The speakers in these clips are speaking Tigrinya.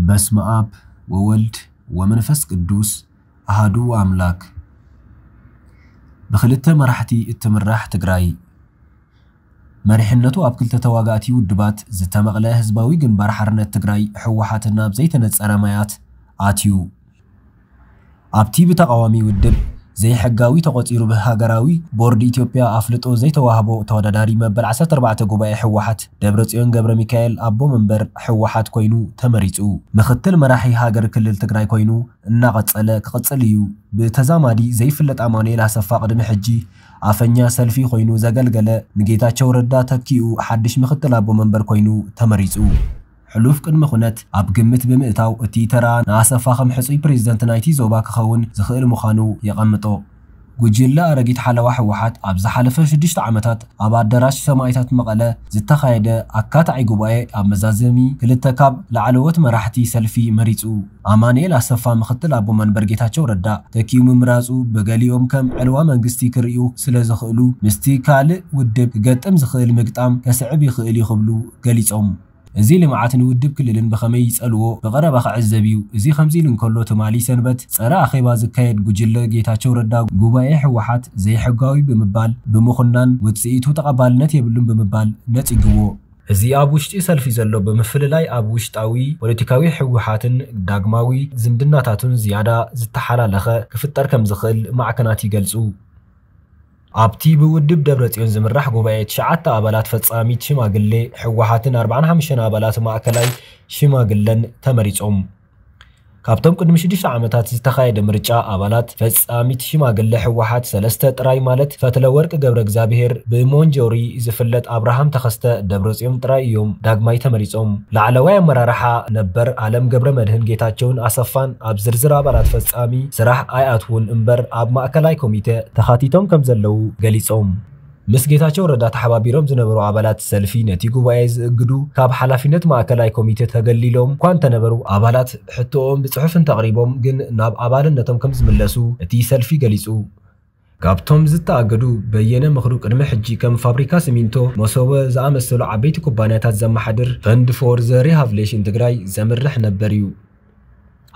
በስመ ኣብ ወወልድ ወመንፈስ ቅዱስ ኣሃዱ ኣምላክ። ብክልተ መራሕቲ እትምራሕ ትግራይ። መሪሕነቱ ኣብ ክልተ ተዋጋእቲ ውድባት ዝተመቕለ ህዝባዊ ግንባር ሓርነት ትግራይ፣ ህወሓት፣ ናብ ዘይተነፀረ ማያት ኣትዩ። ኣብቲ ብተቓዋሚ ውድብ ዘይሕጋዊ ተቖፂሩ ብሃገራዊ ቦርድ ኢትዮጵያ ኣፍልጦ ዘይተዋህቦ ተወዳዳሪ መበል ዓሰርተ ኣርባዕተ ጉባኤ ህወሓት ደብረፅዮን ገብረ ሚካኤል ኣቦ መንበር ህወሓት ኮይኑ ተመሪፁ። ምኽትል መራሒ ሃገር ክልል ትግራይ ኮይኑ እናቐፀለ ክቕፅል እዩ። ብተዛማዲ ዘይፍለጥ ኣማኑኤል ኣሰፋ ቅድሚ ሕጂ ኣፈኛ ሰልፊ ኮይኑ ዘገልገለ ንጌታቸው ረዳ ተኪኡ ሓድሽ ምኽትል ኣቦ መንበር ኮይኑ ተመሪፁ። ሕሉፍ ቅድመ ኩነት ኣብ ግምት ብምእታው እቲ ተራ ንኣሰፋ ከም ሕጹይ ፕሬዝደንት ናይቲ ዞባ ክኸውን ዝኽእል ምዃኑ የቐምጦ። ጉጅለ ኣረጊት ሓለዋ ህወሓት ኣብ ዝሓለፈ ሽዱሽተ ዓመታት ኣብ ኣዳራሽ ሰማእታት መቐለ ዝተኻየደ ኣካታዒ ጉባኤ ኣብ መዛዘሚ ክልተ ካብ ላዕለዎት መራሕቲ ሰልፊ መሪጹ። ኣማኑኤል ኣሰፋ ምኽትል ኣቦ መንበር ጌታቸው ረዳ ተኪኡ ምምራጹ ብገሊኦም ከም ዕልዋ መንግስቲ ክርእዩ ስለ ዝኽእሉ ምስቲ ካልእ ውድብ ክገጥም ዝኽእል ምግጣም ከስዕብ ይኽእል እዩ ክብሉ ገሊጾም። እዚ ልምዓት ንውድብ ክልልን ብኸመይ ይጸልዎ ብቐረባ ክዕዘብ እዩ። እዚ ከምዚ ኢሉ እንከሎ ትማሊ ሰንበት ጸረ ኣኼባ ዝካየድ ጉጅለ ጌታቸው ረዳ ጉባኤ ህወሓት ዘይሕጋዊ ብምባል ብምኹናን ውጽኢቱ ተቐባልነት የብሉን ብምባል ነጺግዎ። እዚ ኣብ ውሽጢ ሰልፊ ዘሎ ብምፍልላይ ኣብ ውሽጣዊ ፖለቲካዊ ህወሓትን ዳግማዊ ዝምድናታቱን ዝያዳ ዝተሓላለኸ ክፍጠር ከም ዝኽእል ማዕከናት ይገልጹ። ኣብቲ ብውድብ ደብረጽዮን ዝምራሕ ጉባኤ ትሽዓተ ኣባላት ፈጻሚት ሽማግሌ ህወሓትን ኣርባዓን ሓሙሽተን ኣባላት ማእከላይ ሽማግለን ተመሪጾም። ካብቶም ቅድሚ ሽዱሽተ ዓመታት ዝተኻየደ ምርጫ ኣባላት ፈጻሚት ሽማግሌ ህወሓት ሰለስተ ጥራይ ማለት ፈትለወርቅ ገብረ እግዚኣብሔር፣ ብሞንጆሪ ዝፍለጥ ኣብርሃም ተኸስተ፣ ደብረጽዮን ጥራይ እዮም ዳግማይ ተመሪጾም። ላዕለዋይ ኣመራርሓ ነበር ኣለም ገብረ መድህን ጌታቸውን ኣሰፋን ኣብ ዝርዝር ኣባላት ፈጻሚ ስራሕ ኣይኣትዉን እምበር ኣብ ማእከላይ ኮሚቴ ተኻቲቶም ከም ዘለዉ ገሊጾም። ምስ ጌታቸው ረዳ ተሓባቢሮም ዝነበሩ ኣባላት ሰልፊ ነቲ ጉባኤ ዝእግዱ ካብ ሓላፊነት ማእከላይ ኮሚቴ ተገሊሎም እኳ እንተነበሩ ኣባላት ሕቶኦም ብጽሑፍ እንተቕሪቦም ግን ናብ ኣባልነቶም ከም ዝምለሱ እቲ ሰልፊ ገሊጹ። ካብቶም ዝተኣገዱ በየነ ምኽሩ ቅድሚ ሕጂ ከም ፋብሪካ ሲሚንቶ መሶበ ዝኣመሰሉ ዓበይቲ ኩባንያታት ዘመሓድር ፈንድ ፎር ዘ ሪሃብሌሽን ትግራይ ዘምርሕ ነበር እዩ።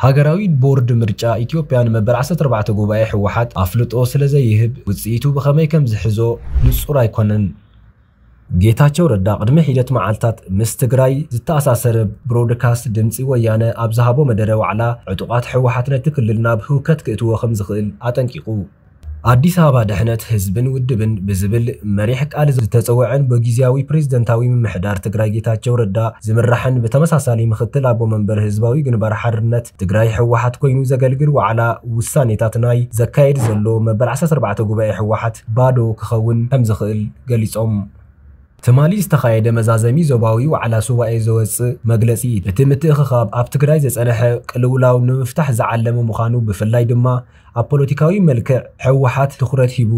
ሃገራዊ ቦርድ ምርጫ ኢትዮጵያ ንመበል ዓሰርተ ኣርባዕተ ጉባኤ ህወሓት ኣፍልጦ ስለ ዘይህብ ውፅኢቱ ብኸመይ ከም ዝሕዞ ንፁር ኣይኮነን። ጌታቸው ረዳ ቅድሚ ሒደት መዓልታት ምስ ትግራይ ዝተኣሳሰረ ብሮድካስት ድምፂ ወያነ ኣብ ዝሃቦ መደረ ዋዕላ ዕጡቓት ህወሓት ነቲ ክልል ናብ ህውከት ክእትዎ ከም ዝኽእል ኣጠንቂቑ። ኣዲስ ኣበባ ድሕነት ህዝብን ውድብን ብዝብል መሪሕ ቃል ዝተፀወዐን ብጊዜያዊ ፕሬዝደንታዊ ምምሕዳር ትግራይ ጌታቸው ረዳ ዝምራሕን ብተመሳሳሊ ምኽትል ኣቦ መንበር ህዝባዊ ግንባር ሓርነት ትግራይ ህወሓት ኮይኑ ዘገልግል ዋዕላ ውሳኔታት ናይ ዘካየድ ዘሎ መበል ዓሰርተ ኣርባዕተ ጉባኤ ህወሓት ባዶ ክኸውን ከም ዝኽእል ገሊጾም። ትማሊ ዝተኻየደ መዛዘሚ ዞባዊ ዋዕላ ሱባኤ ዘወፅእ መግለጺ እቲ ምትእኽኻብ ኣብ ትግራይ ዘጸንሐ ቅልውላው ንምፍታሕ ዝዓለመ ምዃኑ ብፍላይ ድማ ኣብ ፖለቲካዊ መልክዕ ህወሓት ትኹረት ሂቡ።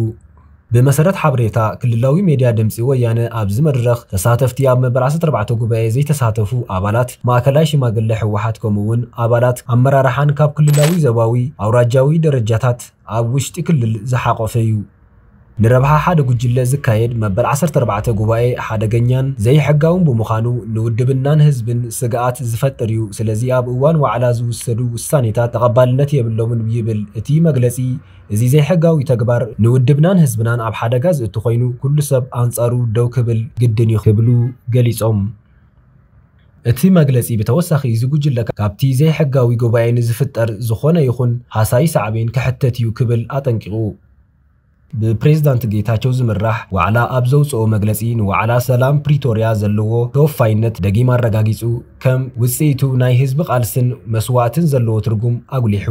ብመሰረት ሓበሬታ ክልላዊ ሜድያ ድምፂ ወያነ ኣብዚ መድረኽ ተሳተፍቲ ኣብ መበል ዓሰርተ ኣርባዕተ ጉባኤ ዘይተሳተፉ ኣባላት ማእከላይ ሽማግለ ህወሓት ከምኡውን ኣባላት ኣመራርሓን ካብ ክልላዊ ዞባዊ ኣውራጃዊ ደረጃታት ኣብ ውሽጢ ክልል ዝሓቆፈ እዩ። ንረብሓ ሓደ ጉጅለ ዝካየድ መበል ዓሰርተ ኣርባዕተ ጉባኤ ሓደገኛን ዘይሕጋውን ብምዃኑ ንውድብናን ህዝብን ስግኣት ዝፈጥር እዩ። ስለዚ ኣብ እዋን ዋዕላ ዝውሰዱ ውሳኔታት ተቐባልነት የብሎምን ይብል እቲ መግለጺ። እዚ ዘይሕጋዊ ተግባር ንውድብናን ህዝብናን ኣብ ሓደጋ ዝእቱ ኮይኑ ኩሉ ሰብ ኣንጻሩ ደው ክብል ግድን እዩ ክብሉ ገሊጾም። እቲ መግለጺ ብተወሳኺ እዚ ጉጅለ ካብቲ ዘይሕጋዊ ጉባኤ ንዝፍጠር ዝኾነ ይኹን ሃሳዪ ሳዕቤን ክሕተት እዩ ክብል ኣጠንቂቑ። ብፕሬዝዳንት ጌታቸው ዝምራሕ ዋዕላ ኣብ ዘውፅኦ መግለፂ ንዋዕላ ሰላም ፕሪቶርያ ዘለዎ ተወፋይነት ደጊም ኣረጋጊፁ፣ ከም ውፅኢቱ ናይ ህዝቢ ቃልስን መስዋእትን ዘለዎ ትርጉም ኣጉሊሑ።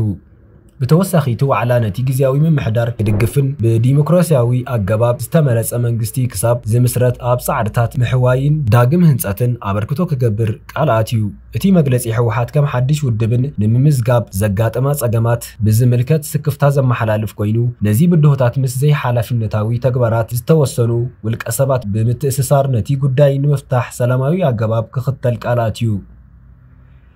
ብተወሳኺ እቲ ዋዕላ ነቲ ግዜያዊ ምምሕዳር ክድግፍን ብዲሞክራሲያዊ ኣገባብ ዝተመረፀ መንግስቲ ክሳብ ዝምስረት ኣብ ፃዕርታት ምሕዋይን ዳግም ህንፀትን ኣበርክቶ ክገብር ቃል ኣትዩ። እቲ መግለጺ ህወሓት ከም ሓድሽ ውድብን ንምምዝጋብ ዘጋጠማ ጸገማት ብዝምልከት ስክፍታ ዘመሓላልፍ ኮይኑ፣ ነዚ ብድሆታት ምስ ዘይሓላፍነታዊ ተግባራት ዝተወሰኑ ውልቀ ሰባት ብምትእስሳር ነቲ ጉዳይ ንምፍታሕ ሰላማዊ ኣገባብ ክኽተል ቃል ኣትዩ።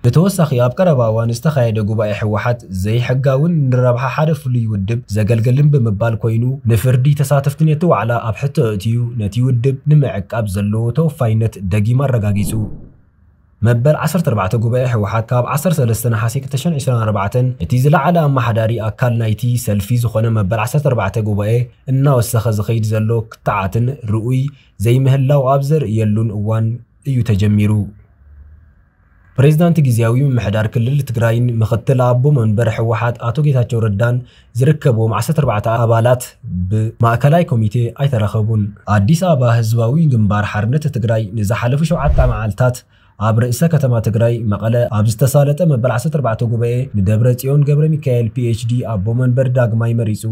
ብተወሳኺ ኣብ ቀረባ እዋን ዝተኻየደ ጉባኤ ህወሓት ዘይሕጋውን ንረብሓ ሓደ ፍሉይ ውድብ ዘገልግልን ብምባል ኮይኑ ንፍርዲ ተሳተፍቲ ነቲ ዋዕላ ኣብ ሕቶ ኣእትዩ ነቲ ውድብ ንምዕቃብ ዘለዎ ተወፋይነት ደጊም ኣረጋጊጹ። መበል ዓሰርተ ኣርባዕተ ጉባኤ ህወሓት ካብ ዓሰርተ ሰለስተ ነሓሴ ክልተ ሽሕን ዕስራን ኣርባዕተን እቲ ዝለዓለ ኣመሓዳሪ ኣካል ናይቲ ሰልፊ ዝኾነ መበል ዓሰርተ ኣርባዕተ ጉባኤ እናወሰኸ ዝኸይድ ዘሎ ክትዓትን ርኡይ ዘይምህላው ኣብ ዘርእየሉን እዋን እዩ ተጀሚሩ። ፕሬዝዳንት ግዝያዊ ምምሕዳር ክልል ትግራይን ምኽትል ኣቦ መንበር ህወሓት ኣቶ ጌታቸው ረዳን ዝርከብዎም ዓሰርተ ኣርባዕተ ኣባላት ብማእከላይ ኮሚቴ ኣይተረኸቡን። ኣዲስ ኣበባ፣ ህዝባዊ ግንባር ሓርነት ትግራይ ንዝሓለፉ ሸውዓተ መዓልታት ኣብ ርእሰ ከተማ ትግራይ መቐለ ኣብ ዝተሳለጠ መበል ዓሰርተ ኣርባዕተ ጉባኤ ንደብረ ጽዮን ገብረ ሚካኤል ፒ ኤች ዲ ኣቦ መንበር ዳግማይ መሪጹ።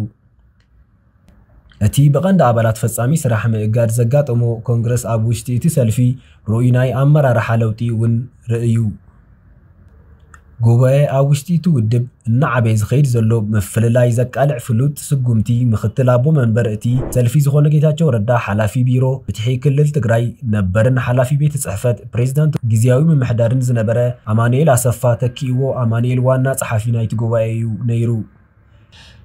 እቲ ብቐንዲ ኣባላት ፈጻሚ ስራሕ ምእጋድ ዘጋጠሞ ኮንግረስ ኣብ ውሽጢ እቲ ሰልፊ ርኡይ ናይ ኣመራርሓ ለውጢ እውን ርእዩ። ጉባኤ ኣብ ውሽጢ እቲ ውድብ እናዓበየ ዝኸይድ ዘሎ ምፍልላይ ዘቃልዕ ፍሉጥ ስጉምቲ ምኽትል ኣቦ መንበር እቲ ሰልፊ ዝኾነ ጌታቸው ረዳ ሓላፊ ቢሮ ፍትሒ ክልል ትግራይ ነበርን ሓላፊ ቤት ጽሕፈት ፕሬዝዳንት ግዝያዊ ምምሕዳርን ዝነበረ ኣማኑኤል ኣሰፋ ተኪእዎ ኣማኑኤል ዋና ጸሓፊ ናይቲ ጉባኤ እዩ ነይሩ።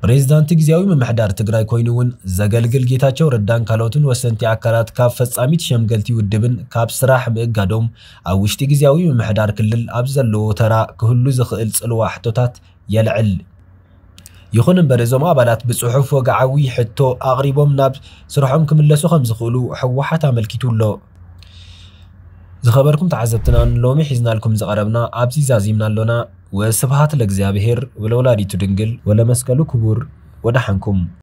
ፕሬዝዳንት ግዝያዊ ምምሕዳር ትግራይ ኮይኑ እውን ዘገልግል ጌታቸው ረዳን ካልኦትን ወሰንቲ ኣካላት ካብ ፈጻሚት ሸምገልቲ ውድብን ካብ ስራሕ ምእጋዶም ኣብ ውሽጢ ግዝያዊ ምምሕዳር ክልል ኣብ ዘለዎ ተራ ክህሉ ዝኽእል ጽልዋ ሕቶታት የልዕል። ይኹን እምበር እዞም ኣባላት ብጽሑፍ ወግዓዊ ሕቶ ኣቕሪቦም ናብ ስርሖም ክምለሱ ከም ዝኽእሉ ህወሓት ኣመልኪቱ ኣሎ። ዝኸበርኩም ተዓዘብትና ንሎሚ ሒዝናልኩም ዝቐረብና ኣብዚ ዛዚምና ኣሎና። ወስብሃት ለእግዚኣብሔር ወለወላዲቱ ድንግል ወለመስቀሉ ክቡር። ወደሓንኩም።